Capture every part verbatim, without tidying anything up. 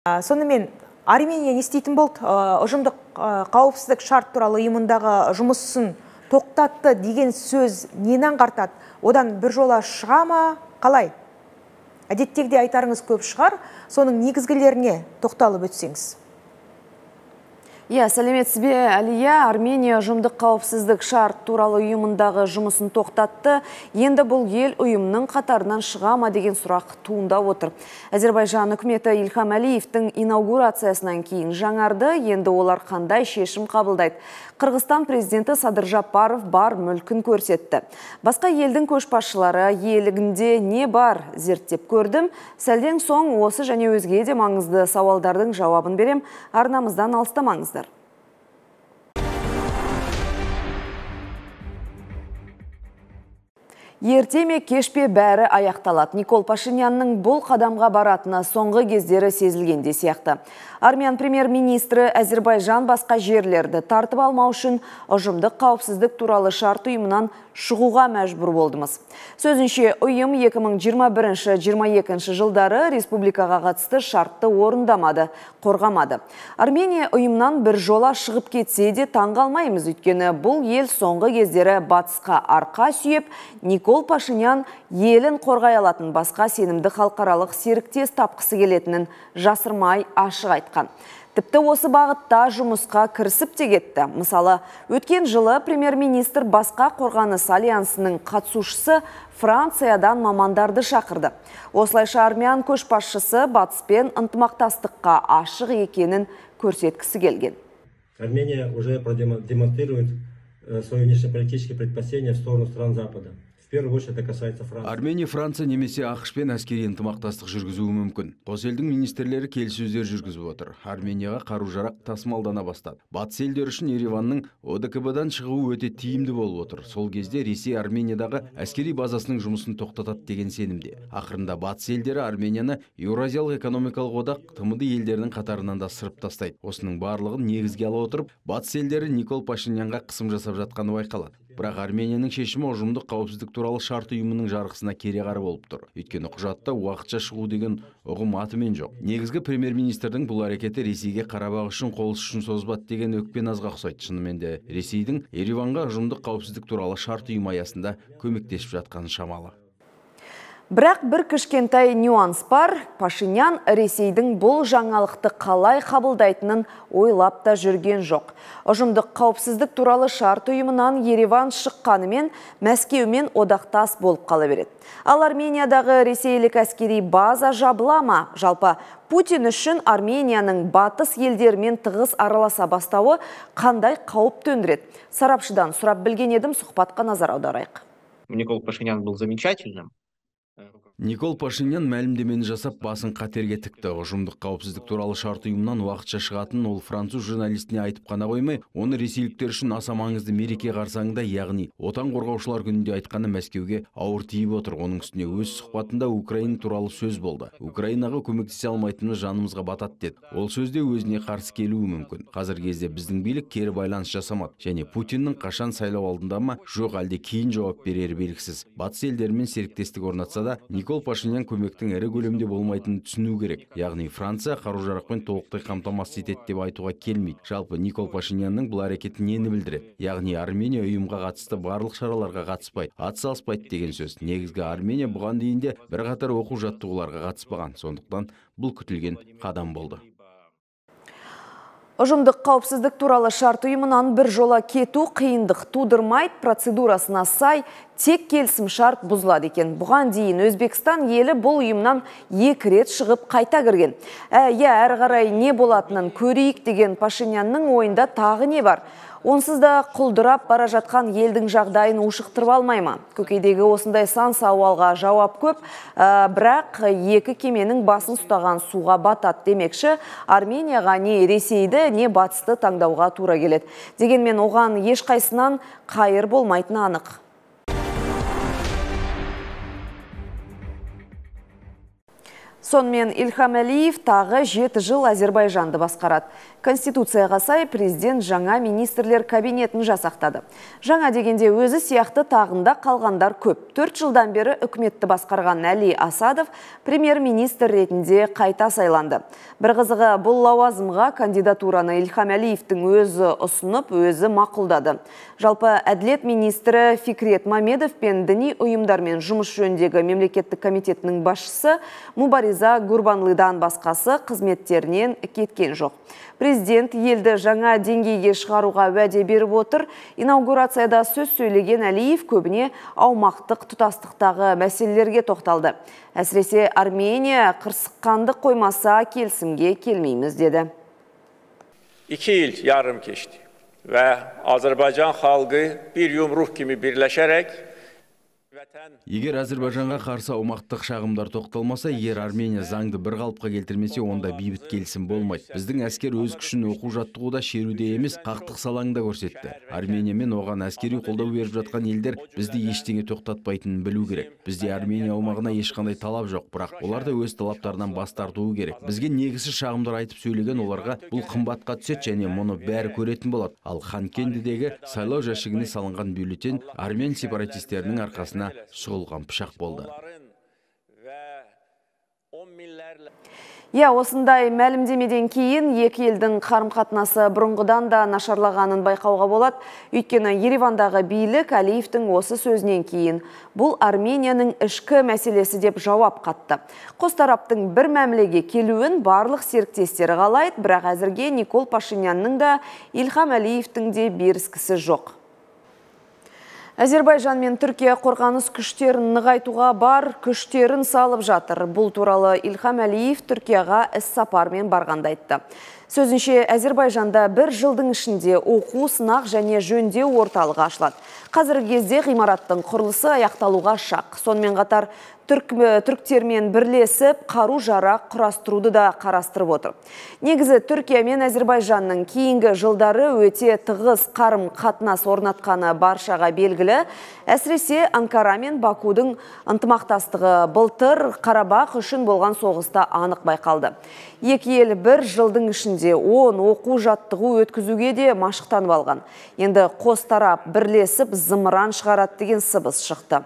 Сонымен Армения не істейтін болды? Ұжымдық қауіпсіздік шарт туралы ұйымындағы жұмысын тоқтатты деген сөз нені аңғартады? Одан бір жола шыға ма? Қалай? Әдеттегіде айтарыңыз көп шығар, соның негізгілеріне тоқталып өтсеңіз. Иә, сәлеметсіз бе, Әлия. Армения ұжымдық қауіпсіздік шарт туралы ұйымындағы жұмысын тоқтатты. Енді бұл ел ұйымның қатарынан шыға ма деген сұрақ туындап отыр. Әзербайжан үкіметі Ильхам Әлиевтің инаугурациясынан кейін жаңарды, енді олар қандай шешім қабылдайды. Қырғызстан президенті Садыр Жапаров бар мүлкін көрсетті. Басқа елдің көшбасшылары елігінде не бар зерттеп көрдім. Сәлден соң осы және өзге де маңызды сауалдардың жауабын берем. Арнамыздан алыстамаңыздар. Ерте ме кешпе бәрі аяқталады. Никол Пашинянның бұл қадамға баратыны соңғы кездері сезілгенде сияқты. Армян премьер-министрі Әзербайжан басқа жерлерді тартып алмау үшін ұжымдық қауіпсіздік туралы шарт ұйымынан шығуға мәжбүр болдымыз. Сөзінше, ұйым екі мың жиырма бірінші — жиырма екінші жылдары республикаға қатысты шартты орындамады, қорғамады. Армения ұйымнан бір жола шығып кетсе де таң қалмаймыз, өйткені бұл ел соңғы кездері батысқа арқа сүйеп, Никол Пашинян елін қорғай алатын басқа сенімді халықаралық серіктес тапқысы келетінін жасырмай ашық айтқан. Тіпті осы бағытта жұмысқа кірісіп те кетті. Мысалы, өткен жылы премьер-министр басқа қорғаныс альянсының қатысушысы Франциядан мамандарды шақырды. Осылайша армян көшбасшысы батыспен ынтымақтастыққа ашық екенін көрсеткісі келген. Армения уже демонстрирует свои внешнеполитические предпочтения в сторону стран Запада. Армения, Франция немесе ақш-пен әскери ынтымақтастық жүргізуі мүмкін. Қос елдің министрлері келіссөздер жүргізіп отыр. Арменияға қару-жарақ тасымалдана бастады. Батыс елдер үшін Ереванның о дэ ка бэ-дан шығуы өте тиімді болып отыр. Сол кезде Ресей Армениядағы әскери базасының жұмысын тоқтатады деген сенімде. Ақырында батыс елдері Арменияны Еуразиялық экономикалық одақ тэ эм дэ елдерінің қатарынан да сырып тастайды. Осының барлығын негізге ала отырып, батыс елдері Никол Пашинянға қысым жасап жатқаны байқалады. Бірақ Арменияның шешімі ұжымдық қауіпсіздік туралы шарт ұйымының жарғысына кереғар болып тұр. Өйткені құжатта уақытша шығу деген ұғым атымен жоқ. Негізгі премьер-министрдің бұл әрекеті Ресейге Қарабақ үшін қол ұшын созбады деген өкпе назға ұқсайды. Шынымен де Ресейдің Ереванға ұжымдық қауіпсіздік туралы шарт ұйым аясында көмектесіп жатқаны шамалы. Бірақ бір кішкентай нюанс бар. Пашинян Ресейдің бұл жаңалықты қалай қабылдайтынын ойлап та жүрген жоқ. Ұжымдық қауіпсіздік туралы шарт ұйымынан Ереван шыққанымен Мәскеумен одақтас болып қала береді. Ал Армениядағы ресейлік әскери база жабыла ма? Жалпы Путин үшін Арменияның батыс елдермен тығыз араласа бастауы қандай қауіп төндіреді? Сарапшыдан сұрап білген едім, сұхбатқа назар аударайық. Никол Пашинян был замечательным. Никол Пашинян мәлімдемені жасап басын қатерге тікті. Ұжымдық қауіпсіздік туралы шарт ұйымынан уақытша шығатын ол француз журналистіне айтып қана қоймай, оны ресейліктер үшін аса маңызды мереке қарсаңында, яғни отан қорғаушылар күнінде айтқаны Мәскеуге ауыр тиіп отыр. Оның үстіне өз сұхбатында Украина туралы сөз болды. Украинаға көмектесе алмайтынымыз жанымызға батады деді. Ол сөзде өзіне қарсы келуі мүмкін. Қазір кезде біздің билік кері байланыс жасамады және Путиннің қашан сайлау алдында ма, жоқ әлде кейін жауап берері белгісіз. Батыс елдерімен серіктестік орнатса да, Никол Пашинян көмектің ірі көлемде болмайтынын түсіну керек. Яғни Франция қару-жарақпен толықтай қамтамасыз етеді деп айтуға келмейді. Жалпы Никол Пашинянның бұл әрекеті нені білдіреді? Яғни Армения ұйымға қатысты барлық шараларға қатыспайды, атсалыспайды деген сөз. Негізгі Армения бұған дейін де бірқатар оқу-жаттығуларға қатыспаған. Сондықтан бұл күтілген қадам болды. Ұжымдық қауіпсіздік туралы шарт ұйымынан бір жола кету қиындық тудырмайды, процедурасына сай тек келісім шарт бұзылады екен. Бұған дейін Өзбекстан елі бұл ұйымнан екі рет шығып қайта кірген. Ә, әрі қарай не болатынын көрейік деген Пашинянның ойында тағы не бар? Онсыз да құлдырап бара жатқан елдің жағдайын ушықтырып алмай ма? Көкейдегі осындай сан сауалға жауап көп, ә, бірақ екі кеменің басын ұстаған суға батады демекші, Арменияға не Ресейді, не батысты таңдауға тура келеді. Дегенмен оған ешқайсынан қайыр болмайтыны анық. Сонымен Ильхам Әлиев тағы жеті жыл Азербайжанды басқарады. Конституцияға сай президент жаңа министрлер кабинетін жасақтады. Жаңа дегенде өзі сияқты тағында қалғандар көп. Төрт жылдан бері үкіметті басқарған Әли Асадов премьер-министр ретінде қайта сайланды. Бір қызығы, бұл лауазымға кандидатураны Ильхам Әлиевтің өзі ұсынып, өзі мақұлдады. Жалпы әділет министрі Фикрет Мамедов пен діни ұйымдармен жұмыс жөніндегі мемлекеттік комитетінің басшысы Мубариза Гурбанлыдан басқасы қызметтерінен кеткен жоқ. Президент елді жаңа деңгейге шығаруға уәде беріп отыр. Инаугурацияда сөз сөйлеген Әлиев көбіне аумақтық тұтастықтағы мәселелерге тоқталды. Әсіресе Армения қырсыққанды қоймаса келісімге келмейміз деді. İki il yarım geçti ve Azerbaycan halkı bir yumruq kimi birləşərək Егер Әзірбайжанға қарсы аумақтық шағымдар тоқталмаса, егер Армения заңды бір қалыпқа келтірмесе, онда бейбіт келісім болмайды. Біздің әскер өз күшін оқу жаттығуда, шеруде емес, қақтық салаңда көрсетті. Армения мен оған әскери қолдау беріп жатқан елдер бізді ештеңе тоқтатпайтынын білу керек. Бізде Армения аумағына ешқандай талап жоқ, бірақ олар да өз талаптарынан бас тартуы керек. Бізге негізсіз шағымдар айтып сөйлеген оларға бұл қымбатқа түседі және мұны бәрі көретін болады. Ал Ханкендідегі сайлау жәшігіне салынған бюллетень армян сепаратистерінің арқасына сұғылған пышақ болды. Я, осындай мәлімдемеден кейін екі елдің қарым-қатынасы бұрынғыдан да нашарлағанын байқауға болады. Өйткені Еревандағы билік Әлиевтің осы сөзінен кейін бұл Арменияның ішкі мәселесі деп жауап қатты. Қос тараптың бір мәмілеге келуін барлық серіктестері қалайды, бірақ әзірге Никол Пашинянның да Ильхам Әлиевтің де беріскісі жоқ. Азербайжан мен Түркия қорғаныс күштерін нығайтуға бар күштерін салып жатыр. Бұл туралы Ильхам Әлиев Түркияға іс-сапармен барғанда айтты. Сөзінше, Азербайжанда бір жылдың ішінде оқу, сынақ және жөндеу орталығы ашылады. Қазіргі кезде ғимараттың құрылысы аяқталуға шақ. Сонымен қатар түріктермен бірлесіп, қару жарақ құрастыруды да қарастырып отыр. Негізі Түркия мен Азербайжанның кейінгі жылдары өте тығыз қарым қатынас орнатқаны баршаға белгілі. Әсіресе Анкара мен Бакудың ынтымақтастығы былтыр Қарабақ үшін болған соғыста анық байқалды. Екі ел бір жылдың ішінде он оқу жаттығу өткізуге де машықтанып алған. Енді қос тарап бірлесіп зымыран шығарады деген сыбыс шықты.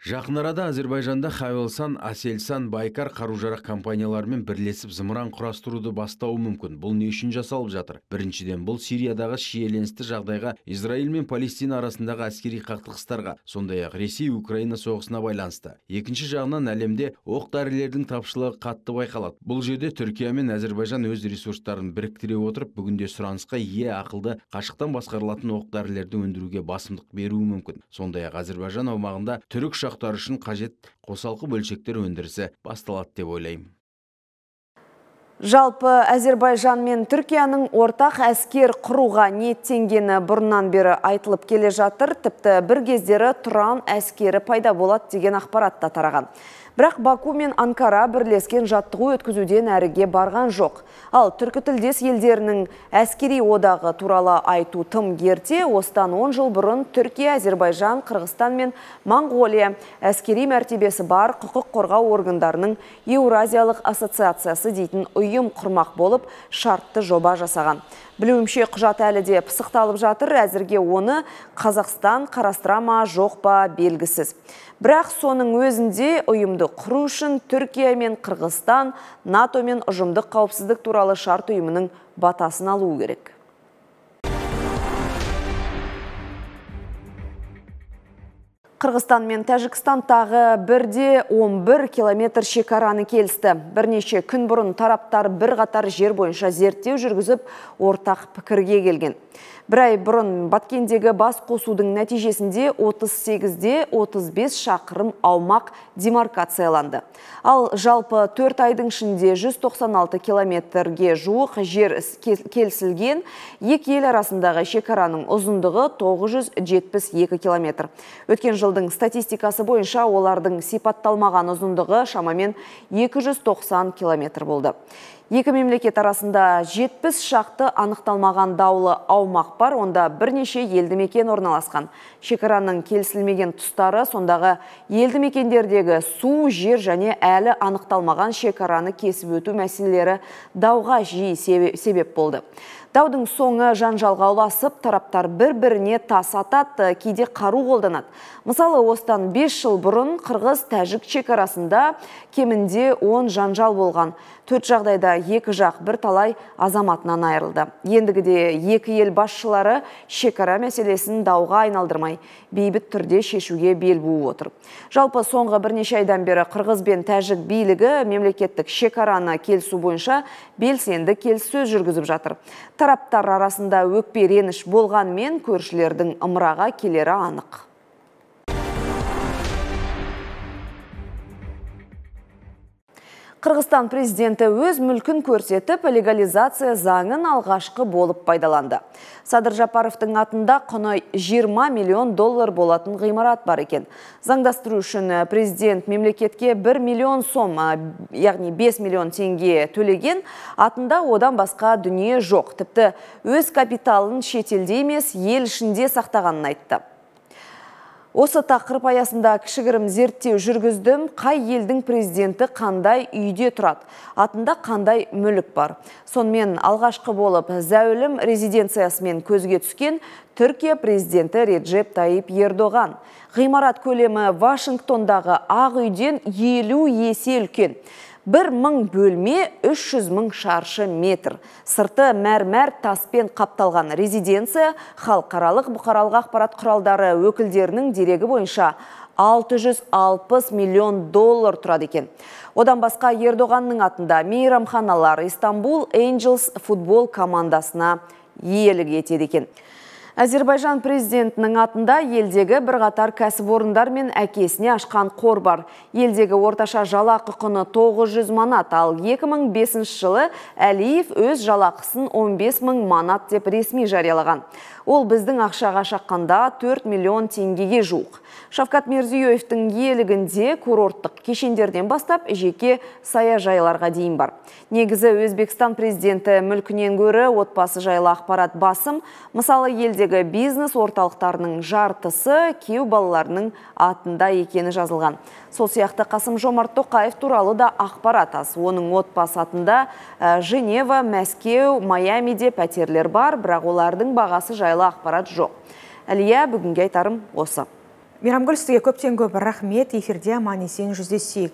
Жақын арада Азербайжанда Хавелсан, Аселсан, Байкар қару-жарақ компанияларымен бірлесіп зымыран құрастыруды бастауы мүмкін. Бұл не үшін жасалып жатыр? Біріншіден, бұл Сириядағы шиеленісті жағдайға, Израиль мен Палестина арасындағы әскери қақтығыстарға, сондай-ақ Ресей-Украина соғысына байланысты. Екінші жағынан әлемде оқ-дәрілердің тапшылығы қатты байқалады. Бұл жерде Түркия мен Азербайжан өз ресурстарын біріктіре отырып, бүгінде сұранысқа ие ақылды қашықтан басқарылатын оқ-дәрілерді өндіруге басымдық беруі мүмкін. Сондай-ақ Азербайжан аумағында түрік ұшақтар үшін қажет қосалқы бөлшектер өндірісі басталады деп ойлаймын. Жалпы Азербайжан мен Түркияның ортақ әскер құруға ниеттенгені бұрыннан бері айтылып келе жатыр. Тіпті бір кездері Тұран әскері пайда болады деген ақпарат та тараған. Бірақ Баку мен Анкара бірлескен жаттығу өткізуден әріге барған жоқ. Ал түркітілдес елдерінің әскери одағы туралы айту тым ерте. Осыдан он жыл бұрын Түркия, Азербайжан, Қырғызстан мен Моңғолия әскери мәртебесі бар құқық қорғау органдарының Еуразиялық ассоциациясы дейтін ұйым құрмақ болып шартты жоба жасаған. Білуімше құжат әлі де пысықталып жатыр, әзірге оны Қазақстан қарастыра ма жоқ па белгісіз. Бірақ соның өзінде ұйымды құру үшін Түркия мен Қырғызстан НАТО мен ұжымдық қауіпсіздік туралы шарт ұйымының батасын алуы керек. Қырғызстан мен Тәжікстан тағы бірде он бір километр шекараны келісті. Бірнеше күн бұрын тараптар бір қатар жер бойынша зерттеу жүргізіп, ортақ пікірге келген. Бір ай бұрын Баткендегі бас қосудың нәтижесінде отыз сегізде отыз бес шақырым аумақ демаркацияланды. Ал жалпы төрт айдың ішінде жүз тоқсан алты километрге жуық жер келісілген. Екі ел арасындағы шекараның ұзындығы тоғыз жүз жетпіс екі километр. Өткен жылдың статистикасы бойынша олардың сипатталмаған ұзындығы шамамен екі жүз тоқсан километр болды. Екі мемлекет арасында жетпіс шақты анықталмаған даулы аумақ бар, онда бірнеше елді мекен орналасқан. Шекараның келісілмеген тұстары сондағы елді мекендердегі су, жер және әлі анықталмаған шекараны кесіп өту мәселелері дауға жиі себеп болды. Даудың соңы жанжалға ұласып, тараптар бір-біріне тас атады, кейде қару қолданады. Мысалы, осыдан бес жыл бұрын Қырғыз-Тәжік шекарасында кемінде он жанжал болған. Төрт жағдайда екі жақ бір талай азаматынан айырылды. Ендігіде екі ел басшылары шекара мәселесін дауға айналдырмай, бейбіт түрде шешуге бел буып отыр. Жалпы соңғы бірнеше айдан бері Қырғыз бен Тәжік билігі мемлекеттік шекараны келісу бойынша белсенді келіссөз жүргізіп жатыр. Тараптар арасында өкпе реніш болғанмен көршілердің ымыраға келері анық. Қырғызстан президенті өз мүлкін көрсетіп, легализация заңын алғашқы болып пайдаланды. Садыр Жапаровтың атында құны жиырма миллион доллар болатын ғимарат бар екен. Заңдастыру үшін президент мемлекетке бір миллион сом, яғни бес миллион теңге төлеген, атында одан басқа дүние жоқ. Тіпті өз капиталын шетелде емес, ел ішінде сақтағанын айтты. Осы тақырып аясында кішігірім зерттеу жүргіздім. Қай елдің президенті қандай үйде тұрады, атында қандай мүлік бар. Сонымен алғашқы болып зәулім резиденциясымен көзге түскен Түркия президенті Реджеп Тайип Ердоған. Ғимарат көлемі Вашингтондағы Ақ үйден елу есе үлкен. Бір мың бөлме үш жүз мың шаршы метр. Сырты мәрмәр таспен қапталған резиденция халықаралық бұқаралық ақпарат құралдары өкілдерінің дерегі бойынша алты жүз алпыс миллион доллар тұрады екен. Одан басқа Ердоғанның атында мейрамханалар Istanbul Angels футбол командасына иелік етеді екен. Әзербайжан президентінің атында елдегі бірқатар кәсіпорындар мен әкесіне ашқан қор бар. Елдегі орташа жалақы құны тоғыз жүз манат, ал екі мың бесінші жылы Әлиев өз жалақысын он бес мың манат деп ресми жариялаған. Ол біздің ақшаға шаққанда төрт миллион теңгеге жуық. Шавкат Мирзиёевтің иелігінде курорттық кешендерден бастап жеке саяжайларға дейін бар. Негізі Өзбекстан президенті мүлкінен гөрі отбасы жайлы ақпарат басым. Мысалы, елдегі бизнес орталықтарының жартысы күйеу балаларының атында екені жазылған. Сол сияқты Қасым Жомарт Тоқаев туралы да ақпарат аз. Оның отбасы атында Женева, Мәскеу, Майамиде пәтерлер бар, бірақ олардың бағасы жайлы ақпарат жоқ. Әлия, бүгінге айтарым осы. Мейрамгүл, сізге көптен көп рахмет. Эфирде аман есен жүздесейік.